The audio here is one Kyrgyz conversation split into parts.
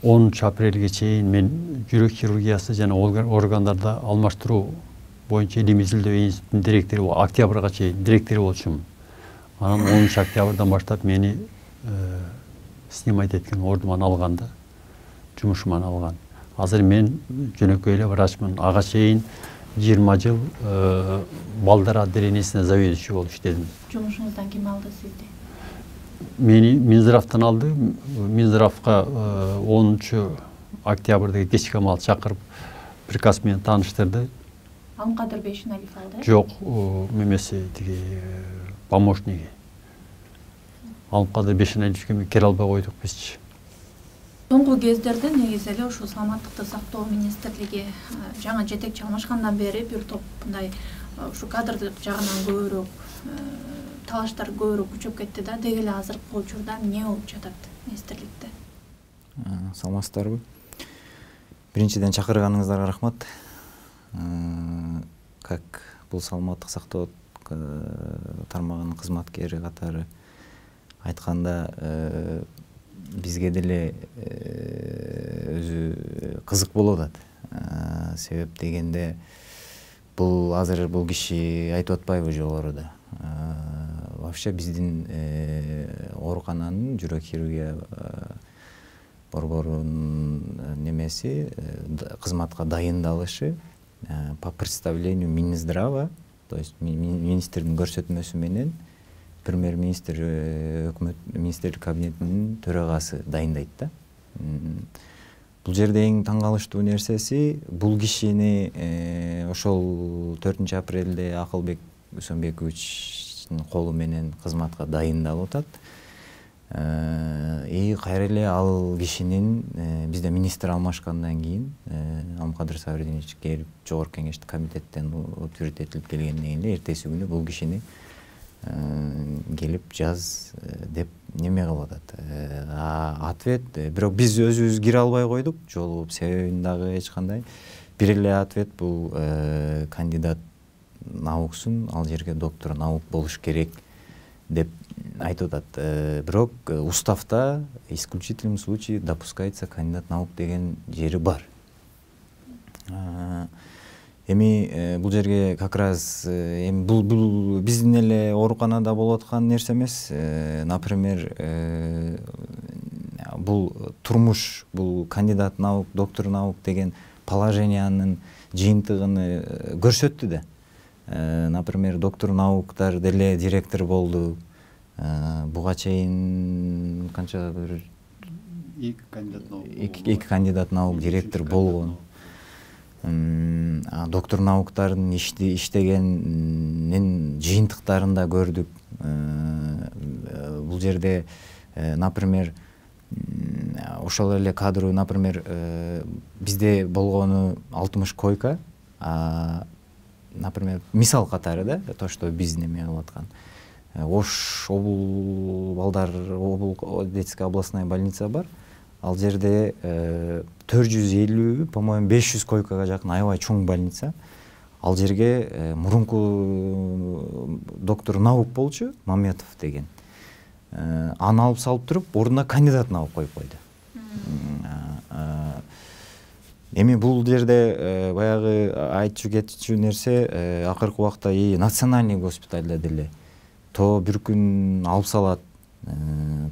10 апрелге чейин мен жүрөк хирургиясы жана органдарды алмаштыруу боюнча илимий изилдөө институтунун директору, октябрга чейин директору болчумун. Анан 10 октябрдан баштап мени снимать эткен ордуман алган да, жумушуман алган. Азыр мен жөнөкөй эле врачмын. Ага чейин 20 жыл балдар отделениесине заведующий болуп иштедим. Жумушуңуздан ким алды сизди? Мени Минздравтан алды. Минздравга 10 октябрда кечки амал чакырып приказ менен тааныштырды. Алымкадыр Бейшеналиев алды? Жок, мемеси тиги помощниги. Алымкадыр Бейшеналиевке келе албай койдук бизчи. Соңку кездерде негизи эле ушул саламаттыкты сактоо министрлиги жаңы жетекчи алмашкандан бери бир топ мындай ушу кадрдык жагынан көбүрөөк талаштар көбүрөөк күчөп кетти да. Деги эле азыркы учурда эмне болуп жатат министрликте? Саламатсыздарбы? Биринчиден чакырганыңыздарга рахмат. Как бул саламаттык сактоо тармагынын кызматкери катары айтканда бизге деле өзү кызык болуп атат. Себеп дегенде бул азыр бул киши айтып атпайбы жогоруда. Вообще биздин оорукананын жүрөк хирургия борборунун немеси кызматка дайындалышы по представлению Минздрава, то есть министрдин көрсөтмөсү менен премьер-министр өкмөт министрлик кабинетинин төрагасы дайындайт да. Бул жерде эң таң калыштуу нерсеси бул кишини ошол 4 апрелде Акылбек Үсөнбековичтин колу менен кызматка дайындалып атат. Кайра эле ал кишинин бизде министр алмашкандан кийин Алымкадыр Сабридинович келип жогорку кеңештик комитеттен утверждать этилип келгенден кийин эртеси күнү бул кишини келип жаз деп неме кылып атат. Ответ, бирок биз өзүбүз кире албай койдук, жолугуп себебин дагы эч кандай. Бир эле ответ бул кандидат науксун, ал жерге доктор наук болуш керек деп айтып атат. Бирок уставда исключительном случае допускается кандидат наук деген жери бар. Эми бул жерге как раз эми бул биздин эле ооруканада болуп аткан нерсе эмес. Например, бул турмуш, бул кандидат наук, доктор наук деген положениянын жыйынтыгын көрсөттү да. Например, доктор науктар деле директор болду. Буга чейин канча бир 2 кандидат наук директор болгон. Доктор науктардын иштегенин жыйынтыктарын да көрдүк. Бул жерде, например, ошол эле кадрлы, например, бизде болгону 60 койка, например, мисал катары да, то, что биз неме кылып аткан. Ош обул балдар обул детская областная больница бар. Ал жерде 450, по-моему, 500 койкага жакын аябай чоң больница. Ал жерге мурунку доктор наук болчу, Маметов деген. Аны алып салып туруп, ордуна кандидат наук коюп койду. Эми бул жерде баягы айтчу кетчү нерсе, акыркы убакта национальный госпитальда деле то бир күн алып салат,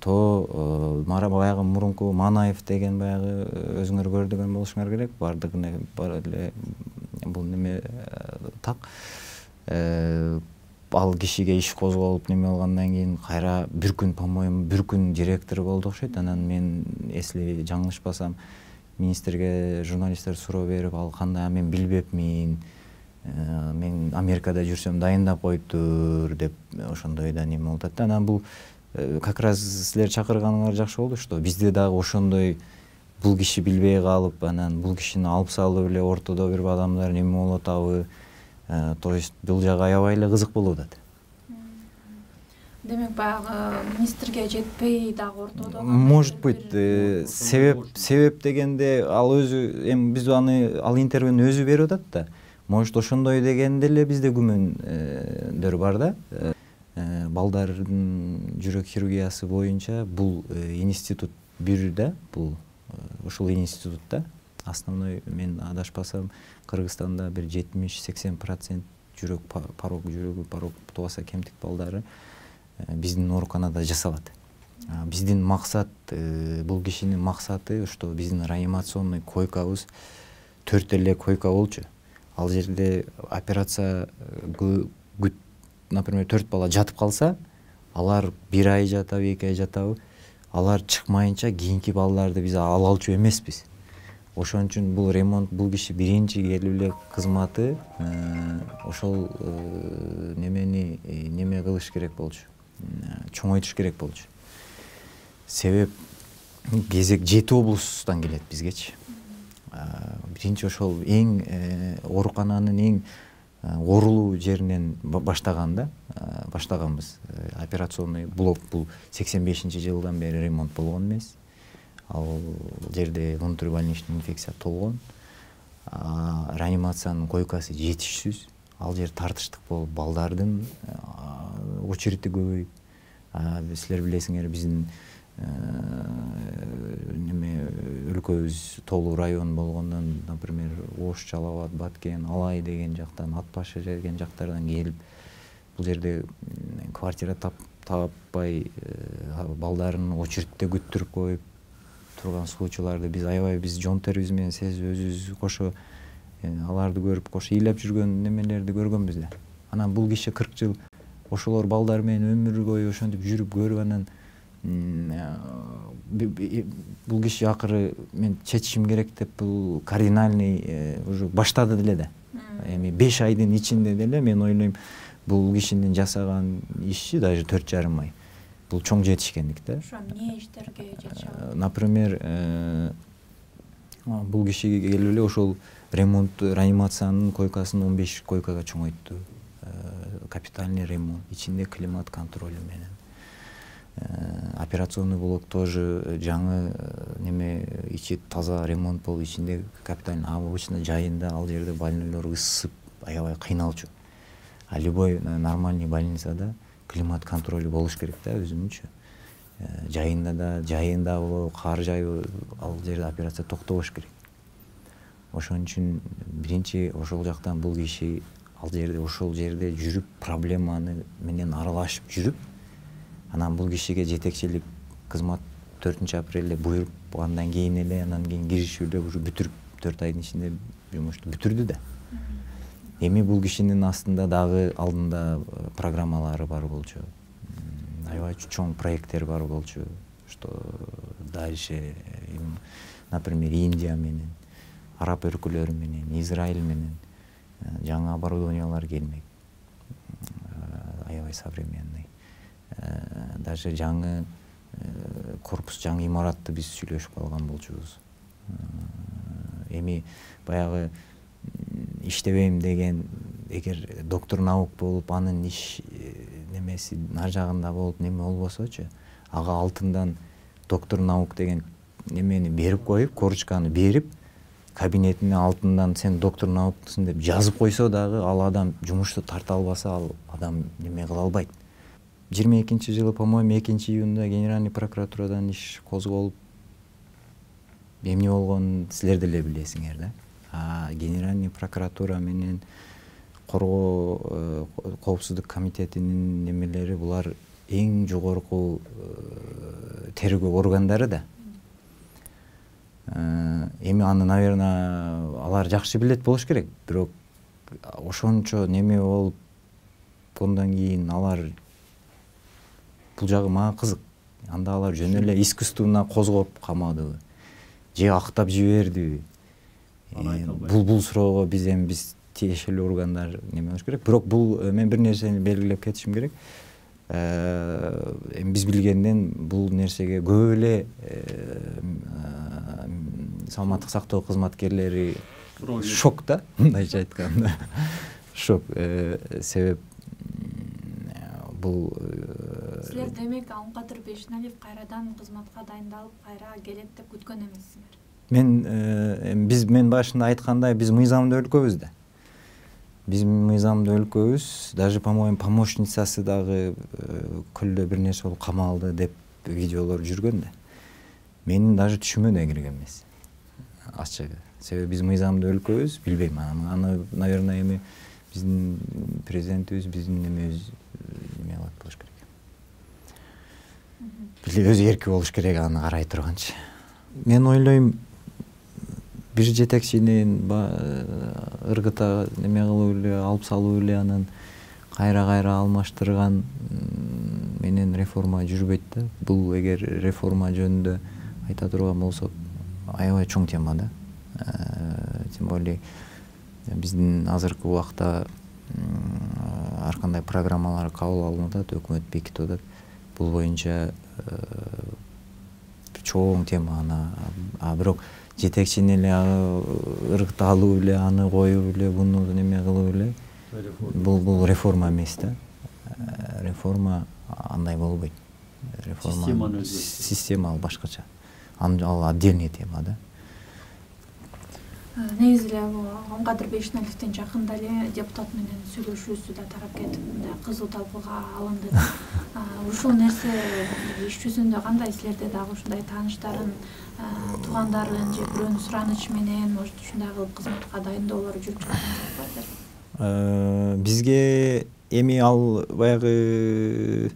то баягы мурунку Манаев деген баягы өзүңөр көрдүгөн болушуңар керек, бардыгына бар эле бул неме так. Ал кишиге иш козголуп неме алгандан кийин кайра бир күн, по-моему, бир күн директор болду окшойт. Анан мен эсли жаңылышпасам министрге журналисттер суроо берип, ал кандай, мен билбепмин, мен Америкада жүрсөм дайындап коюптур деп ошондой да неме болуп атат. Анан бул как раз силер чакырганыңар жакшы болду, что бизде дагы ошондой бул киши билбей калып, анан бул кишини алып салып эле ортодо бир адамдар неме болуп атабы. То есть бул жагы аябай эле кызык болуп атат. Демек, баягы министрге жетпей дагы ортодо. Может быть, себеп дегенде ал өзү, эми биз ал интервьюну өзү берип атат да. Может, ошондой дегенде эле бизде күмөндөр бар да. Балдардын жүрөк хирургиясы боюнча бул институт бир да, бул ушул институтта основной, мен адашпасам, Кыргызстанда бир 70-80% жүрөгү порок тубаса кемтик балдары биздин ооруканада жасалат. Биздин максат, бул кишинин максаты, что биздин реанимационный койкабыз 4 эле койка болчу. Ал жерде операция, например, 4 бала жатып калса, алар 1 ай жатабы, 2 ай жатабы, алар чыкмайынча кийинки балдарды биз ала алчу эмеспиз. Ошон үчүн бул ремонт, бул киши биринчи келип эле кызматы ошол неме кылыш керек болчу. Чоңойтуш керек болчу. Себеп кезек 7 облустан келет бизгечи. Биринчи ошол эң оорукананын эң оорулуу жеринен баштаганбыз. Операционный блок бул 85-жылдан бери ремонт болгон эмес. Ал жерде внутрибольничный инфекция толгон. Реанимациянын койкасы жетишсиз. Ал жер тартыштык болуп, балдардын очереди көбөйүп. Силер билесиңер, биздин өлкөбүз толуу район болгондон, например, Ош, Жалал Абад, Баткен, Алай деген жактан, Ат башы деген жактардан келип, бул жерде квартира таппай балдарын очередте күттүрүп коюп турган случайларды биз аябай, биз жон терибиз менен сезип, өзүбүз кошо аларды көрүп, кошо ыйлап жүргөн немелерди көргөнбүз да. Анан бул киши 40 жыл ошолор балдар менен өмүр бою ошентип жүрүп көрүп, анан бул киши акыры мен чечишим керек деп бул кардинальный уже баштады деле да. Эми 5 айдын ичинде деле мен ойлойм бул кишинин жасаган иши даже 4,5 ай. Бул чоң жетишкендик да. Ошо эмне иштерге жетише алат? Например, бул кишиге келип эле ошол ремонт, реанимациянын койкасын 15 койкага чоңойтту. Капитальный ремонт, ичинде климат контролю менен. Операционный блок тоже жаңы неме, ичи таза ремонт болуп, ичинде капитальный, обычно жайында ал жерде больнойлор ысып аябай кыйналчу. А любой нормальный больницада климат контролю болуш керек да, өзүнүнчө. Жайында болобу, кар жайбы, ал жерде операция токтобош керек. Ошон үчүн биринчи ошол жактан бул киши ал жерде, ошол жерде жүрүп, проблеманы менен аралашып жүрүп, анан бул кишиге жетекчилик кызмат 4-апрелде буйруп, андан кийин эле, анан кийин киришүүрдө уже бүтүрүп, 4 айдын ичинде жумушту бүтүрдү да. Эми бул кишинин астында дагы алдында программалары бар болчу. Аябай чоң проекттер бар болчу, что дальше, например, Индия менен, Араб өлкөлөрү менен, Израиль менен жаңы оборудованиялар келмек. Аябай современный. Даже жаңы корпус, жаңы имаратты биз сүйлөшүп алган болчубуз. Эми баягы иштебейм деген, эгер доктор наук болуп, анын иш немеси нар жагында болуп, неме болбосочу, ага алтындан доктор наук деген немени берип коюп, корочканы берип, кабинетине алтындан сен доктор науктусун деп жазып койсо дагы, ал адам жумушту тарта албаса, ал адам неме кыла албайт. 22-жылы, по-моему, 2-июнда Генеральный прокуратурадан иш козголуп, эмне болгонун силер деле билесиңер да. Генеральный прокуратура менен коргоо коопсуздук комитетинин немелери, булар эң жогорку тергөө органдары да. Эми аны, наверное, алар жакшы билет болуш керек, бирок ошончо неме болуп, ондан кийин алар бул жагы мага кызык. Анда алар жөн эле искусственно козгоп камадыбы, же актап жибердиби? Бул суроого биз тиешелүү органдар неме болуш керек. Бирок бул мен бир нерсени белгилеп кетишим керек. Биз билгенден бул нерсеге көп эле саламаттык сактоо кызматкерлери шок да, мындайча айтканда. Шок. Себеп бул силер демек Алымкадыр Бешеналиев кайрадан кызматка дайындалып, кайра келет деп күткөн эмессиңер? Мен башында айткандай, биз мыйзамдуу өлкөбүз да. Биз мыйзамдуу өлкөбүз, даже, по-моему, помощницасы дагы көлдө бир нерсе болуп камалды деп видеолор жүргөн да. Менин даже түшүмө да кирген эмес ачыгы. Себеби биз мыйзамдуу өлкөбүз, билбейм аны наверное эми биздин президентибиз биздин эмебиз эме кылат болуш керек. Өзү эрки болуш керек аны карай турганчы. Мен ойлойм бир жетекчинин ыргыта неме кылып эле алып салып эле анан кайра алмаштырган менен реформа жүрбөйт да. Бул эгер реформа жөнүндө айта турган болсок аябай чоң тема да. Тем более биздин азыркы убакта ар кандай программалар кабыл алынып атат, өкмөт бекитип атат. Бул боюнча чоң тема аны. Бирок жетекчини эле ыргыта алып эле аны коюп эле буну неме кылып эле бул реформа эмес да. Реформа андай болбойт. Реформа система ал башкача. Ал отдельный тема да. Негизи эле Оңгадыр Бейшеналиевдин жакында эле депутат менен сүйлөшүүсү да тарап кетип, мындай кызуу талкууга алынды. Ушул нерсе иш жүзүндө кандай, силерде дагы ушундай тааныштарын, туугандарын же бирөөнүн суранычы менен, может, ушундай кылып кызматка дайындоолор жүрүп жатат? Бизге эми ал баягы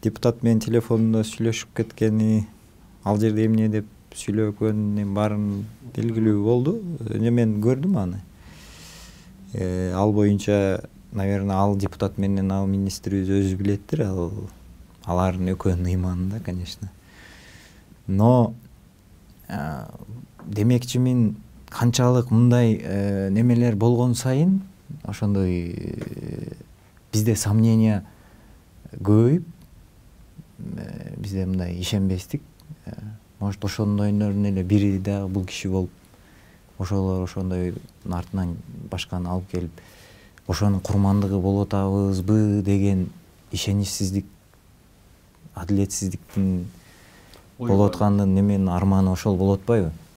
депутат менен телефондо сүйлөшүп кеткени, ал жерде эмне деп сүйлөгөн баарын белгилүү болду. Мен көрдүм аны. Ал боюнча, наверное, ал депутат менен ал министрибиз өзү билеттир, алардын экөөнүн ыйманында, конечно. Но демекчимин, канчалык мындай немелер болгон сайын ошондой бизде сомнение көбөйүп, бизде мындай ишенбестик. Может, ошондойдордун эле бири дагы бул киши болуп, ошолор ошондой артынан башканы алып келип, ошонун курмандыгы болуп атабызбы деген ишеничсиздик, адилетсиздиктин болуп аткандын неменин арманы ошол болуп атпайбы?